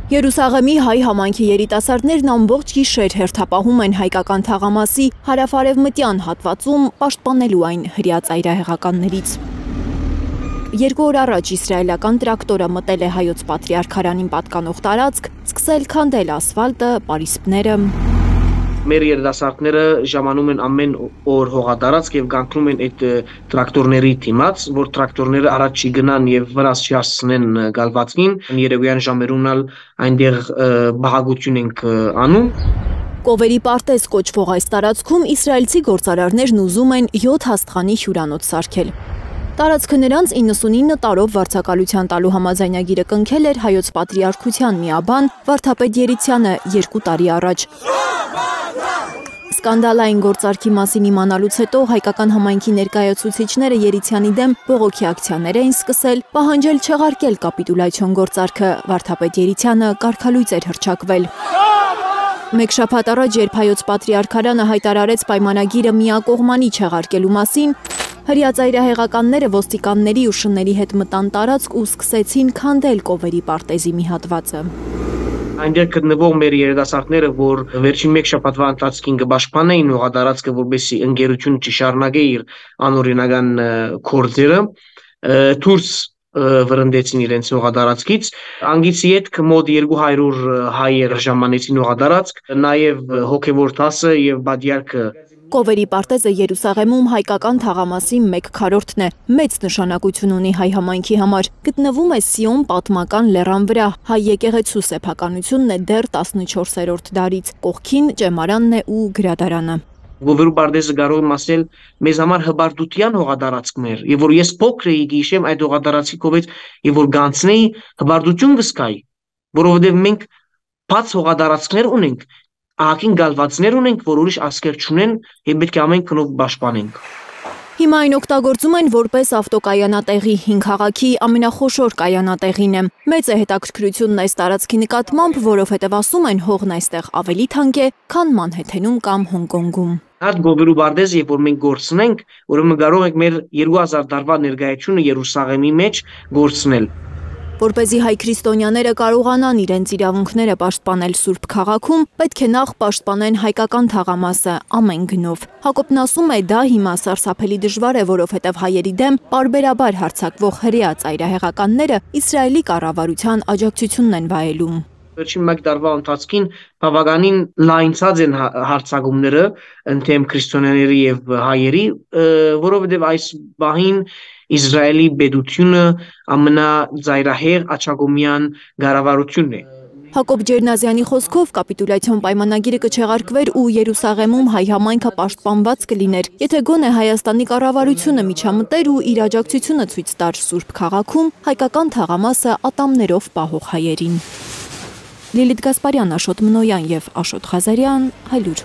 Երուսաղեմի հայ համայնքի երիտասարդներն ամբողջ գիշեր հերթապահում են հայկական թաղամասի հարավ-արևմտյան հատվածում պաշտպանելու այն հրյա ծայրահեղականներից։ 2 օր առաջ իսրայելական տրակտորը մտել է հայոց պատրիարքարանին պատկանող տարածք, սկսել քանդել ասֆալտը, պարիսպները։ Մեր երիտասարդները ժամանում են ամեն օր հողատարածք եւ գանքնում են այդ տրակտորների դիմաց, որ տրակտորները առաջ չգնան եւ վրաս չհասցնեն գալվածքին, երեկոյան ժամերուն այնտեղ բաղագություն ենք անում։ Կովերի պարտեզ կոչվող այս տարածքում իսրայելցի գործարարներն ուզում են 7 հաստղանի հյուրանոց սարքել։ Տարածքը նրանց 99 տարով վարձակալության տալու համաձայնագիրը կնքել էր հայոց պատրիարքության միաբան Վարդապետ Երիցյանը 2 տարի առաջ։ Սկանդալային գործարքի մասին իմանալուց հետո հայկական համայնքի ներկայացուցիչները Երիցյանի դեմ բողոքի ակցիաներ էին սկսել, պահանջել չեղարկել կապիտուլյացիոն գործարքը, Վարդապետ Երիցյանը կարգալույծ էր հռչակվել։ Մեկ շաբաթ առաջ, երբ հայոց պատրիարքարանը հայտարարեց պայմանագիրը միակողմանի չեղարկելու մասին, հրյա ծայրահեղականները ոստիկանների ու շների հետ մտան տարածք ու սկսեցին քանդել Կովերի պարտեզի մի հատվածը։ Այնտեղ գտնվող մեր երիտասարդները, որ վերջին մեկ շաբաթվա ընթացքին կպաշտպանեին հողատարածքը, որպեսզի ընկերությունը չշարունակի իր անօրինական գործերը, դուրս վրընդեցին իրենց հողատարածքից։ Անգիցի հետ մոտ 200 հայեր ժամանեցին հողատարածք, նաև հոգևոր դասը եւ բادرքը։ Կովերի պարտեզը Երուսաղեմում հայկական թաղամասի 1/4-ն է, մեծ նշանակություն ունի հայ համայնքի համար, գտնվում է Սիոն պատմական լեռան վրա, հայ եկեղեցու սեփականությունն է դեռ 14-րդ դարից, կողքին ճեմարանն է ու գրադարանը։ Կովերի պարտեզը կարող եմ ասել մեզ համար հբարտության հողատարածքներ, եւ որ ես փոքր էի գիշեմ այդ հողատարածքի կողմից, եւ որ գանցնեի հբարտություն կսկայի, որովհետեւ մենք բաց հողատարածքներ ունենք, ահագին գալվածներ ունենք, որ ուրիշ ասկեր չունեն եւ պետք է ամեն կնով պաշտպանենք։ Հիմա այն օգտագործում են որպես ավտոկայանատեղի, հին քաղաքի ամենախոշոր կայանատեղին է։ Մեծ է հետաքրքրությունն այս տարածքի նկատմամբ, որովհետև ասում են հողն այստեղ ավելի թանկ է, քան Մանհեթենում կամ Հոնկոնգում։ Այդ Կովերի պարտեզը, երբ որ մենք գործնենք, ուրեմն կարող ենք մեր 2000 տարվա ներկայությունը Երուսաղեմի մեջ գործնել։ Որպեսզի հայ քրիստոնյաները կարողանան իրենց իրավունքները պաշտպանել Սուրբ քաղաքում, պետք է նախ պաշտպանեն հայկական թաղամասը ամեն գնով։ Հակոբն ասում է, դա հիմա սարսափելի դժվար է, որովհետև հայերի դեմ պարբերաբար հարձակվող հրեա ծայրահեղականները Իսրայելի կառավարության աջակցությունն են վայելում։ Վերջին մեկ տարվա ընթացքին բավականին լայնացած են հարձակումները ընդդեմ քրիստոնյաների եւ հայերի, որովհետեւ այս բահին Իսրայելի պետությունը ամենաձայրահեղ աչագոմյան կառավարությունն է։ Հակոբ Ջերնազյանի խոսքով կապիտուլյացիոն պայմանագիրը կչեղարկվեր ու Երուսաղեմում հայ համայնքը պաշտպանված կլիներ, եթե գոնե Հայաստանի կառավարությունը միջամտեր ու իր աջակցությունը ցույց տար Սուրբ քաղաքում հայկական թաղամասը ատամներով պահող հայերին։ Լիլիթ Գասպարյան, Աշոտ Մնոյան եւ Աշոտ Ղազարյան, Հայլուր։